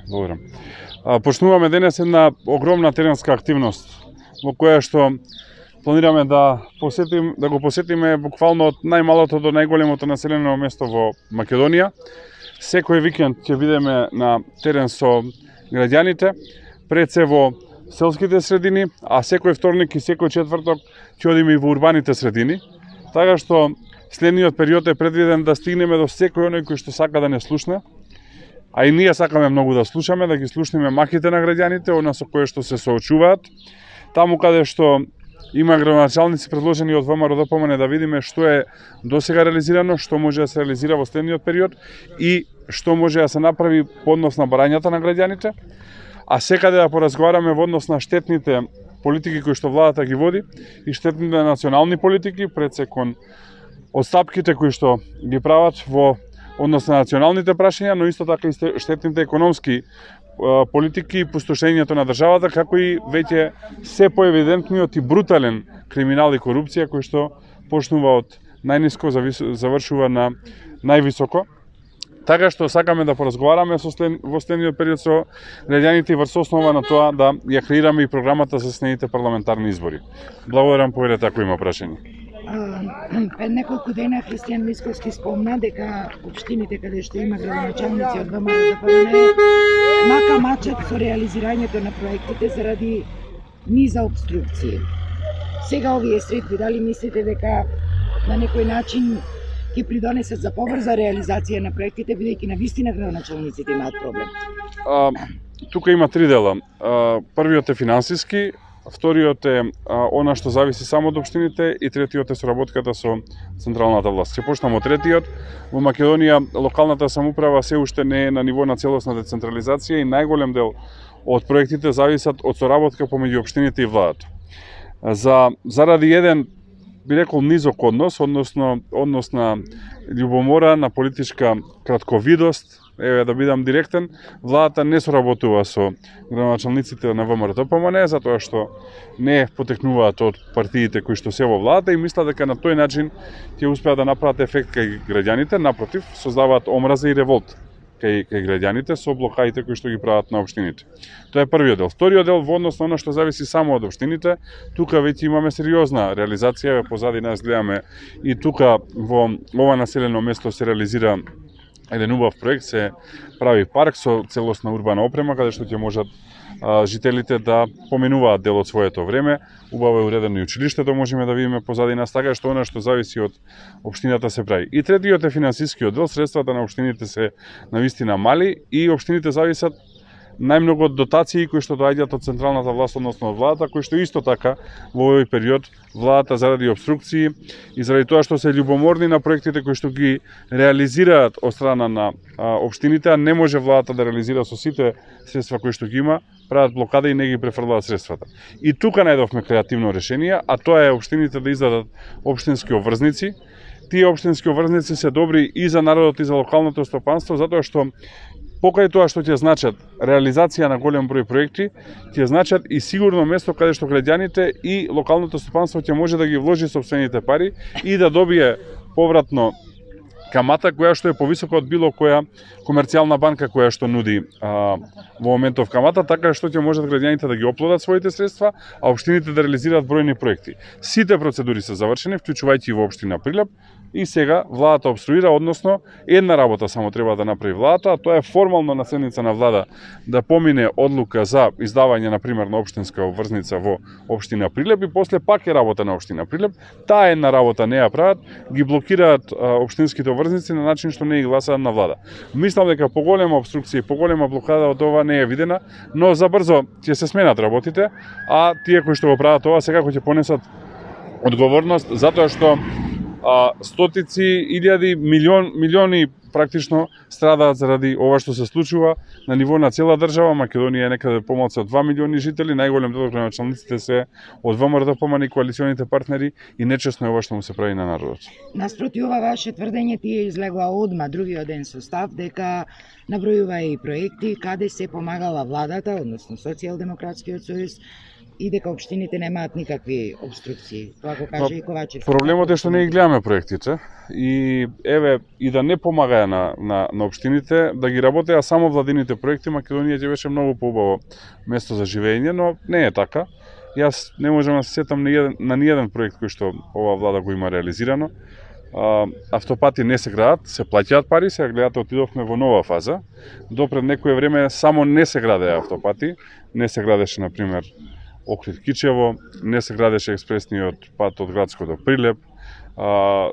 Благодарам. Почнуваме денес една огромна теренска активност во која што планираме да го посетиме буквално од најмалото до најголемото населено место во Македонија. Секој викенд ќе бидеме на терен со граѓаните, пред се во селските средини, а секој вторник и секој четврток ќе одиме и во урбаните средини. Така што следниот период е предвиден да стигнеме до секој оној кој што сака да не слушне. А и ние сакаме многу да слушаме, да ги слушнеме махите на граѓаните, она со кое што се соочуваат. Таму каде што има градоначалници предложени од ВМРО-ДПМН да видиме што е досега реализирано, што може да се реализира во следниот период и што може да се направи по однос на барањата на граѓаните. А секаде да поразговараме во однос на штетните политики кои што владата ги води и штетните национални политики, пред се кон отстапките кои што ги прават во однос на националните прашања, но исто така и штетните економски политики и пустошењето на државата, како и веќе се поевидентниот и брутален криминал и корупција кој што почнува од најниско, завршува на највисоко. Така што сакаме да поразговараме во следниот период со граѓаните и врз основа на тоа да ја креираме и програмата за следните парламентарни избори. Благодарам, повелете ако има прашање. Пред неколку дена Христијан Мисковски спомна дека општините каде што има градоначалници од ВМРО-ДПМН мака мачат со реализирањето на проектите заради низа обструкции. Сега овие средби, дали мислите дека на некој начин ќе придонесат за побрза реализација на проектите, бидејќи на вистина градоначалниците имаат проблем? Тука има три дела. Првиот е финансиски, вториот е она што зависи само од општините и третиот е соработката со централната власт. Ќе почнам од третиот. Во Македонија локалната самоуправа се уште не е на ниво на целосна децентрализација и најголем дел од проектите зависат од соработка помеѓу општините и владата. Заради еден, би рекол, низок однос на љубомора, на политичка кратковидост, да бидам директен, владата не соработува со градоначалниците на ВМРО-ДПМН, затоа што не потекнуваат од партиите кои што се во владата и мислат дека на тој начин ќе успеат да направат ефект кај граѓаните, напротив, создаваат омраза и револт кај граѓаните со блокаите кои што ги прават на општините. Тоа е првиот дел. Вториот дел во однос на она што зависи само од општините, тука веќе имаме сериозна реализација, позади нас гледаме и тука во ова населено место се реализира еден убав проект, се прави парк со целосна урбана опрема, каде што ќе можат жителите да поменуваат дел од своето време. Убаво е уредено и училиштето, можеме да видиме позади нас, така што она што зависи од општината се прави. И третиот е финансискиот дел, средствата на општините се навистина мали и општините зависат најмногу од дотации кои што доаѓаат од централната власт, односно од владата, кои што исто така во овој период владата заради обструкции и заради тоа што се љубоморни на проектите кои што ги реализираат од страна на општините, а не може владата да реализира со сите средства кои што ги има, прават блокада и не ги префрлаат средствата. И тука најдовме креативно решение, а тоа е општините да издадат општински обврзници. Тие општински обврзници се добри и за народот и за локалното стопанство, затоа што покрај тоа што ќе значат реализација на голем број проекти, ќе значат и сигурно место каде што граѓаните и локалното стопанство ќе може да ги вложи сопствените пари и да добие повратно камата која што е повисока од било која комерцијална банка која што нуди во моментов камата, така што ќе можат граѓаните да ги оплодат своите средства, а општините да реализираат бројни проекти. Сите процедури се завршени, вклучувајќи и во општина Прилеп, и сега владата обструира, односно една работа само треба да направи владата, а тоа е формално на седница на влада да помине одлука за издавање на пример на општинска обврзница во општина Прилеп и после пак е работа на општина Прилеп. Таа една работа не ја прават, ги блокираат општинските обврзници на начин што не ги гласаат на влада. Мислам дека поголема обструкција и поголема блокада од ова не е видена, но забрзо ќе се сменат работите, а тие кои што го прават ова секако ќе понесат одговорност затоа што стотици, илјади, милиони практично страдаат заради ова што се случува на ниво на цела држава. Македонија е некаде помалку од 2 милиони жители, најголем дел од градоначалниците се од ВМРО-ДПМН и коалиционите партнери и нечесно е ова што му се прави на народот. Наспроти ова ваше тврдење тие излегува одма другиот ден со став дека набројува и проекти каде се помагала владата, односно Социјалдемократскиот сојуз и дека општините немаат никакви обструкции. Тоа го каже и Ковачев. Проблемот е што не ги гледаме проектите и еве и да не помага на општините да ги работеа само владините проекти, Македонија ќе беше многу поубаво место за живење, но не е така. Јас не можам да се сетам на ниеден проект кој што оваа влада го има реализирано. Автопати не се градат, се плаќаат пари, сега гледате отидовме во нова фаза. Допред некое време само не се градеа автопати, не се градеше на пример Охрид-Кичево, не се градеше експресниот пат од Градско до Прилеп,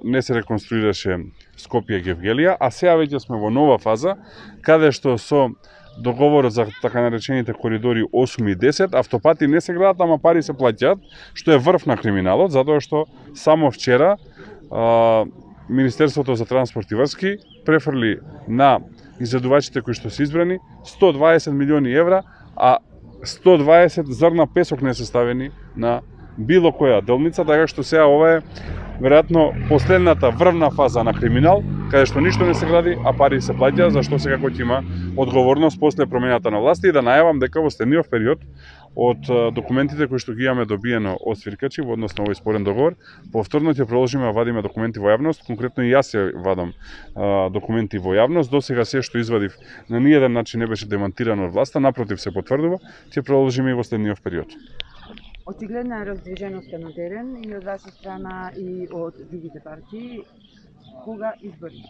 не се реконструираше Скопје-Гевгелија, а сега веќе сме во нова фаза, каде што со договорот за така наречените коридори 8 и 10, автопати не се градат, ама пари се плаќаат, што е врв на криминалот, затоа што само вчера Министерството за транспорт и врски префрли на изведувачите кои што се избрани 120 милиони евра, а 120 зрна песок не се ставени на било која делница, така што сега ова е веројатно последната врвна фаза на криминал, каде што ништо не се гради, а пари се плаќаат, зашто сега кој ќе има одговорност после промената на власти, и да најавам дека во следниот период од документите кои што ги имаме добиено од свиркачи во однос на овој спорен договор, повторно ќе продолжиме да вадиме документи во јавност, конкретно и јас ја вадам документи во јавност. До сега се што извадив на ниеден начин не беше демантирано од власта, напротив се потврдува, ќе продолжиме и во следниот период. Очигледна е раздвиженоста на терен и од ваша страна и од другите партии. Кога избори?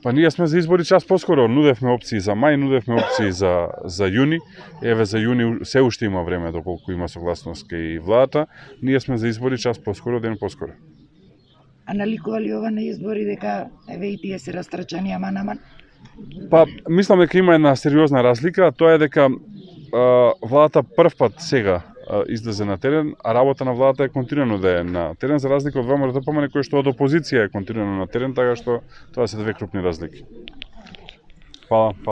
Па ние сме за избори час поскоро, нудевме опции за мај, нудевме опции за јуни. Еве за јуни се уште има време доколку има согласност кај владата. Ние сме за избори час поскоро, ден поскоро. А наликува ли ова на избори дека еве и тие се растрчани аман? Па мислам дека има една сериозна разлика, тоа е дека владата првпат сега излезе на терен, а работа на владата е континуирано да е на терен, за разлика од ВМРО, кој што од опозиција е континуирано на терен, така што тоа се две крупни разлики. Фала.